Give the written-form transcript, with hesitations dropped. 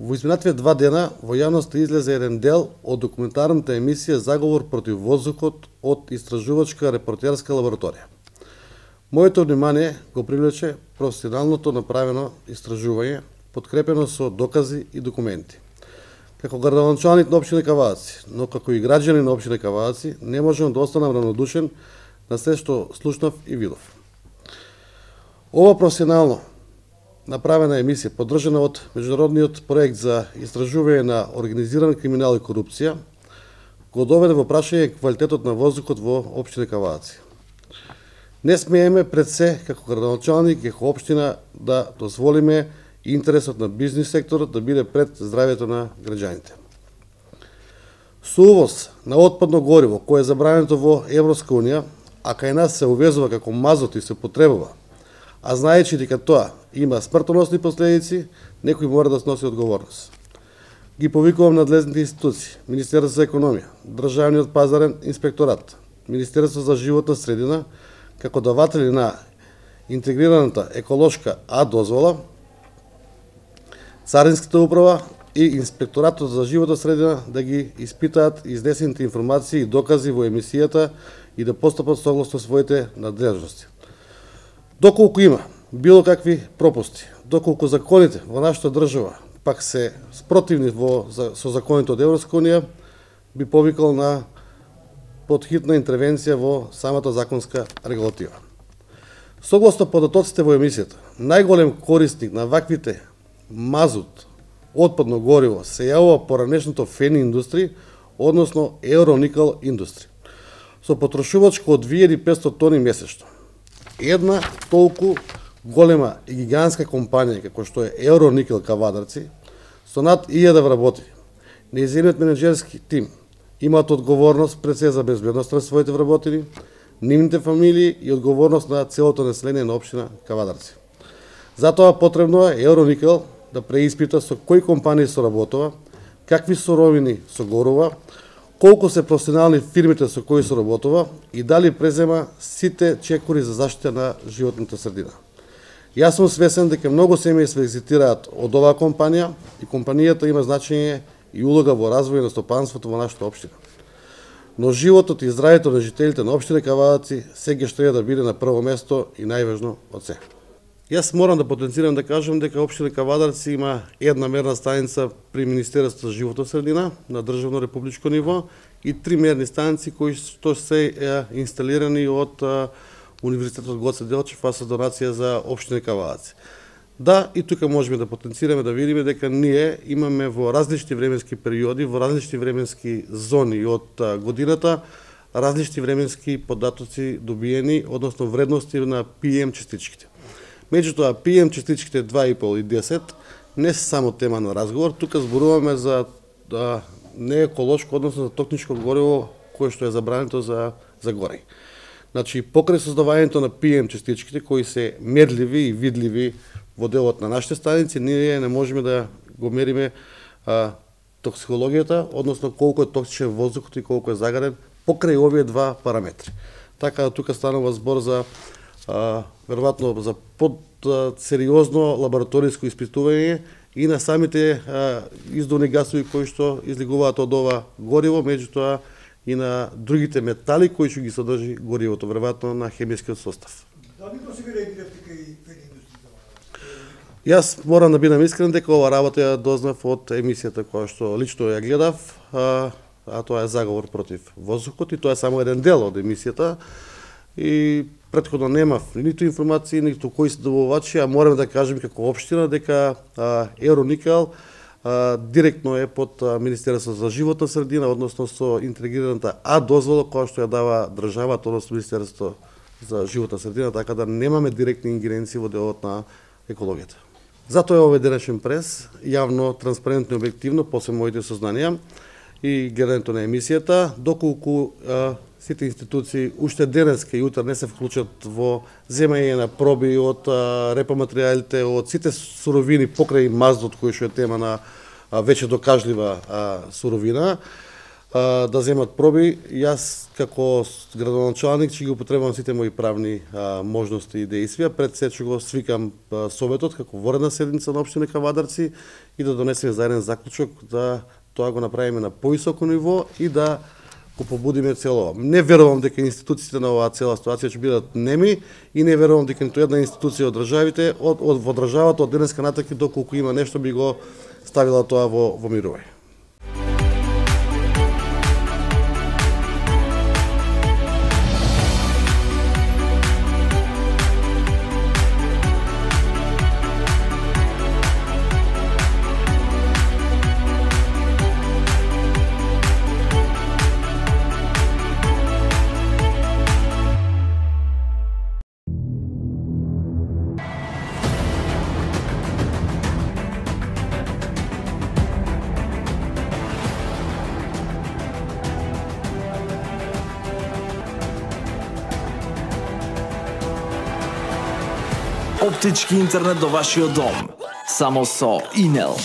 Во изминативе 2 дена во јавноста излезе еден дел од документарната емисија Заговор против воздухот од истражувачка репортерска лабораторија. Моето внимание го привлече професионалното направено истражување, подкрепено со докази и документи. Како градоначалник на општина Кавадаци, но како и граѓанин на општина Кавадаци, не можам да останам равнодушен на се што слушнав и видов. Ова професионално направена емисија, поддржана од меѓународниот проект за истражување на организиран криминал и корупција, го доведе во прашање квалитетот на воздухот во општина Кавадаци. Не смееме пред се, како градоначалник, како општина, да дозволиме интересот на бизнис секторот да биде пред здравјето на граѓаните. Со увоз на отпадно гориво, кое е забрането во Европска унија, а кај нас се увезува како мазот и се потребува, а знаејќи дека тоа има смртоносни последици, некој мора да сноси одговорност. Ги повикувам надлежните институции, Министерство за економија, Државниот пазарен инспекторат, Министерство за животна средина, како даватели на интегрираната еколошка А дозвола, Царинската управа и Инспекторатот за животна средина да ги испитаат изнесените информации и докази во емисијата и да постапат согласно своите надлежности. Доколку има било какви пропусти, доколку законите во нашата држава пак се спротивни со законите од Европска унија, би повикал на подхитна интервенција во самата законска регулатива. Согласно податоците во емисијата, најголем корисник на ваквите мазут, отпадно гориво се јавува поранешното ФЕН индустри, односно Евроникел индустри, со потрошувачка од 2500 тони месечно. Една толку голема и гигантска компанија како што е Евроникел Кавадарци, со над 1000 вработени, нејзиниот менеджерски тим имаат одговорност пред се за безбедноста на своите вработени, нивните фамилии и одговорност на целото население на општина Кавадарци. Затоа потребно е Евроникел да преиспита со кои компании соработува, какви суровини согорува, колку се професионални фирмите со кои соработува и дали презема сите чекори за заштита на животната средина. Јас сум свесен дека многу семеи се екзитираат од оваа компанија и компанијата има значење и улога во развој на стопанството во нашата општина. Но животот и здравјето на жителите на општина Кавадаци сега што е да биде на прво место и најважно од се. Јас морам да потенцирам да кажам дека општина Кавадарци има една мерна станица при Министерството за животна средина на државно републичко ниво и 3 мерни станици кои што се инсталирани од Универзитетот Гоце Делчев, а со донација за општина Кавадаци. Да, и тука можеме да потенцираме да видиме дека ние имаме во различни временски периоди, во различни временски зони од годината, различни временски податоци добиени, односно вредности на PM частичките. Меѓутоа, PM частичките 2,5 и 10 не се само тема на разговор, тука зборуваме за нееколошко, односно за токсичко гориво кое што е забрането за горење. Значи, покрај создавањето на PM частичките кои се мерливи и видливи во делот на нашите станици, ние не можеме да го мериме токсикологијата, односно колку е токсичен воздухот и колку е загарен покрај овие два параметри. Така тука станува збор за веројатно за подсериозно лабораториско испитување и на самите издувни гасови кои што излегуваат од ова гориво, меѓутоа и на другите метали кои што ги содржи горивото, веројатно на хемискиот состав. Дали до сега реагиравте кај ФЕН индустрија? Јас морам да бидам искрен дека ова работа ја дознав од емисијата која што лично ја гледав, а тоа е Заговор против воздухот и тоа е само еден дел од емисијата. И претходно немав ниту информации, ниту кои се добавувачи, а морам да кажем како општина дека Евроникел директно е под Министерство за животна средина, односно со интегрираната А дозвола која што ја дава државата, односно Министерство за животна средина, така да немаме директни ингеренции во делот на екологијата. Затоа е овој денешен прес, јавно, транспарентно и објективно, после моите сознанија и гледањето на емисијата, доколку сите институции уште денеска и утре не се вклучат во земање на проби од репоматеријалите, од сите суровини покрај маздот кој што е тема на веќе докажлива суровина, да земат проби. Јас како градоначалник ќе ги употребам сите мои правни можности и действија. Пред се ќе го свикам советот како воредна седница на општина Кавадарци и да донесеме заеден заклучок да тоа го направиме на повисоко ниво и да го побудиме цело. Не верувам дека институциите на оваа цела ситуација ќе бидат неми и не верувам дека ниту една институција од државите во државата од денеска натаки доколку има нешто би го ставила тоа во мирување. Оптички интернет до вашиот дом. Само со Инел.